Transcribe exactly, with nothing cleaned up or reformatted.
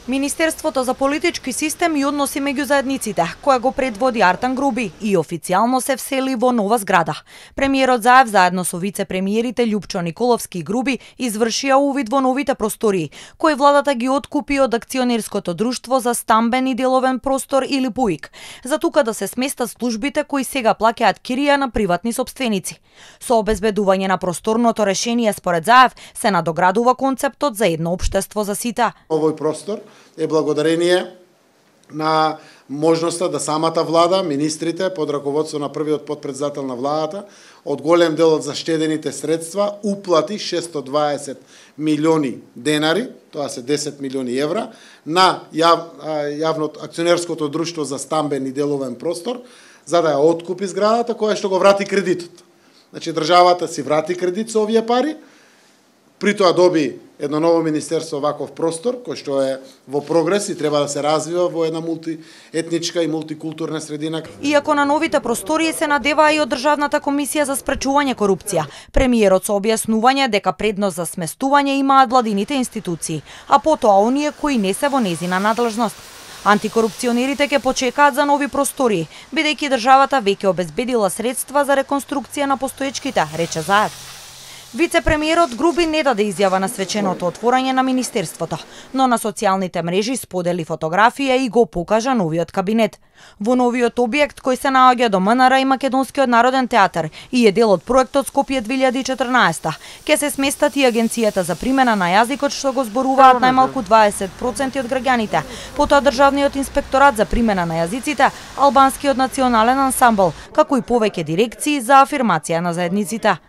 Министерството за политички систем и односи меѓу заедниците, која го предводи Артан Груби, и официјално се всели во нова зграда. Премиерот Заев заедно со вице-премиерите Љупчо Николовски и Груби извршија увид во новите простории, кои владата ги откупи од акционерското друштво за стамбен и деловен простор или ПУИК, за тука да се сместат службите кои сега плаќаат кирија на приватни сопственици. Со обезбедување на просторното решение според Заев се надоградува концептот за едно општество за сите. Овој простор е благодарение на можноста да самата влада, министрите под раководство на првиот потпредседател на владата, од голем дел од заштедените средства уплати шесто дваесет милиони денари, тоа се десет милиони евра, на јав, јавното акционерското друштво за стамбен и деловен простор, за да ја откупи зградата која што го врати кредитот. Значи државата си врати кредит со овие пари, при тоа доби едно ново министерство ваков простор, кој што е во прогрес и треба да се развива во една мултиетничка и мултикултурна средина. Иако на новите простории се надеваа и од Државната комисија за спречување корупција, премиерот со објаснување дека предност за сместување имаат владините институции, а потоа оние кои не се во незина надлежност. Антикорупционерите ќе почекаат за нови простории, бидејќи државата веќе обезбедила средства за реконструкција на постоечките, рече Заев. Вице-премиерот Груби не даде изјава на свеченото отворање на министерството, но на социјалните мрежи сподели фотографија и го покажа новиот кабинет. Во новиот објект кој се наоѓа до МНР и Македонскиот народен театар и е дел од проектот Скопје две илјади и четрнаесета, ќе се сместат и Агенцијата за примена на јазикот што го зборуваат најмалку дваесет проценти од граѓаните, потоа Државниот инспекторат за примена на јазиците, Албанскиот национален ансамбл, како и повеќе дирекции за афирмација на заедниците.